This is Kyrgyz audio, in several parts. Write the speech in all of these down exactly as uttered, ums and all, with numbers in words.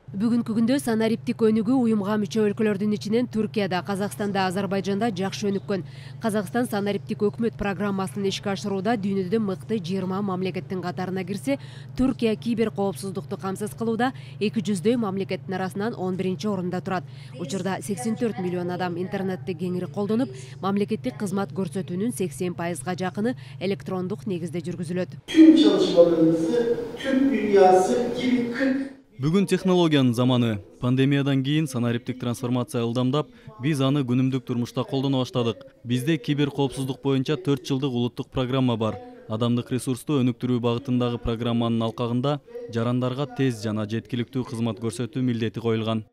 Бүгүнкү күндө санариптик өнүгүү уюмга мүчө өлкөлөрдүн ичинен Түркияда, Казакстанда, Азербайжанда жакшы өнүккөн. Казакстан санариптик өкмөт программасын ишке ашырууда дүйнөдө мыкты жыйырма мамлекеттин катарына кирсе, Түркия кибер коопсуздукту камсыз кылууда эки жүздөй мамлекеттин арасынан он биринчи орунда турат. Учурда сексен төрт миллион адам интернетти кеңири колдонуп, мамлекеттик кызмат көрсөтүүнүн сексен пайызга жакыны электрондук негизде жүргүзүлөт. Tüm çalışmalarımızı Türk dünyası gibi kırk Бүгүн технологиянын заманы. Пандемиядан кийин санариптик трансформация ылдамдап, биз аны күнүмдүк турмушта колдоно баштадык. Бизде кибер коопсуздук боюнча төрт жылдык улуттук программа бар. Адамдык ресурсту өнүктүрүү багытындагы программанын алкагында жарандарга тез жана жеткиликтүү кызмат көрсөтүү милдети коюлган.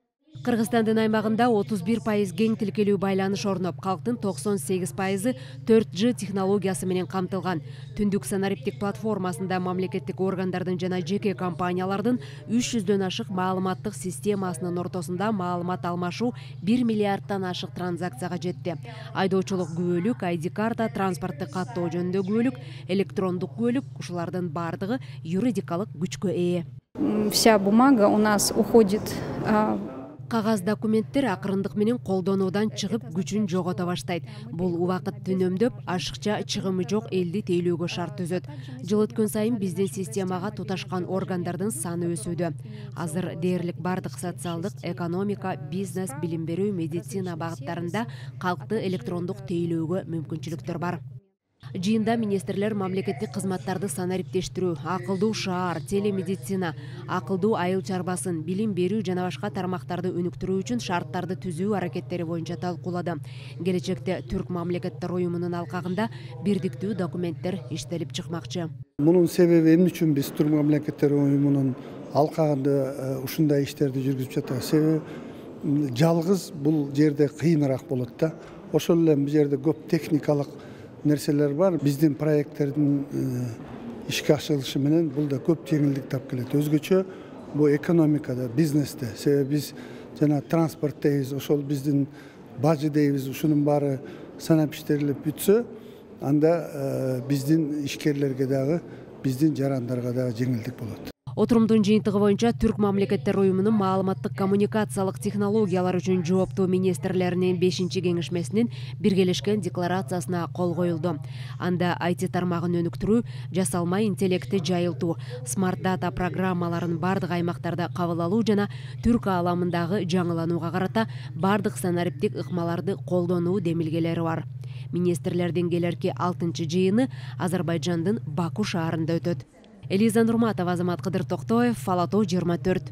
Кыргызстандын аймагында отуз бир пайыз кең тилкелүү байланыш орноп, калктын токсон сегиз пайызы төрт Ж технологиясы менен камтылган. Түндүк санариптик платформасында мамлекеттик органдардын жана жеке компаниялардын үч жүздөн ашык маалыматтык системасынын ортосунда маалымат алмашуу бир миллиардтан ашык транзакцияга жетти. Айдоочулук күбөлүк, ай ди карта, транспортту каттоо жөнүндө күбөлүк, электрондук күбөлүк — ушулардын бардыгы юридикалык күчкө ээ. Вся бумага у нас уходит. Кагаз документтер акырындык менен колдонуудан чыгып күчүн жогото баштайт. Бул убакытты үнөмдөп, ашыкча чыгымы жок элди тейлөөгө шарт түзөт. Жыл өткөн сайын биздин системага туташкан органдардын саны өсүүдө. Азыр дээрлик бардык социалдык, экономика, бизнес, билим берүү, медицина багыттарында калкты электрондук тейлөөгө мүмкүнчүлүктөр бар. Жыйында министрлер мамлекеттик кызматтарды санариптештирүү, акылдуу шаар, телемедицина, акылдуу айыл чарбасын, билим берүү жана башка тармактарды өнүктүрүү үчүн шарттарды түзүү аракеттери боюнча талкуулады. Келечекте Түрк мамлекеттер уюмунун алкагында бирдиктүү документтер иштелип чыкмакчы. Мунун себеби эмне үчүн биз Түрк мамлекеттер уюмунун алкагында ушундай иштерди жүргүзүп жатабыз? Себеби жалгыз бул жерде кыйыныраак болот да. Ошол эле бул жерде көп техникалык нерселер бар. Биздин проекттердин ишке ашырылышы менен бул да көп жеңилдик тап келет. Өзгөчө бул экономикада, бизнесте. Себеби биз жана транспорт дейбиз, ошол биздин бажы дейбиз, ушунун баары санап иштелип бүтсө, анда биздин ишкерлерге дагы, биздин жарандарга дагы жеңилдик болот. Отурумдун жыйынтыгы боюнча Түрк мамлекеттер уюмунун маалыматтык коммуникациялык технологиялар үчүн жооптуу министрлеринин бешинчи кеңешмесинин биргелешкен декларациясына кол коюлду. Анда ай ти тармагын өнүктүрүү, жасалма интеллекти жайылтуу, смарт дата программаларын бардык аймактарда кабыл алуу жана түрк ааламындагы жаңыланууга карата бардык санариптик ыкмаларды колдонуу демилгелери бар. Министрлердин келерки алтынчы жыйыны Азербайжандын Баку шаарында өтөт. Элиза Нурматова, Азамат Кыдыр Токтоев, Ала тоо жыйырма төрт.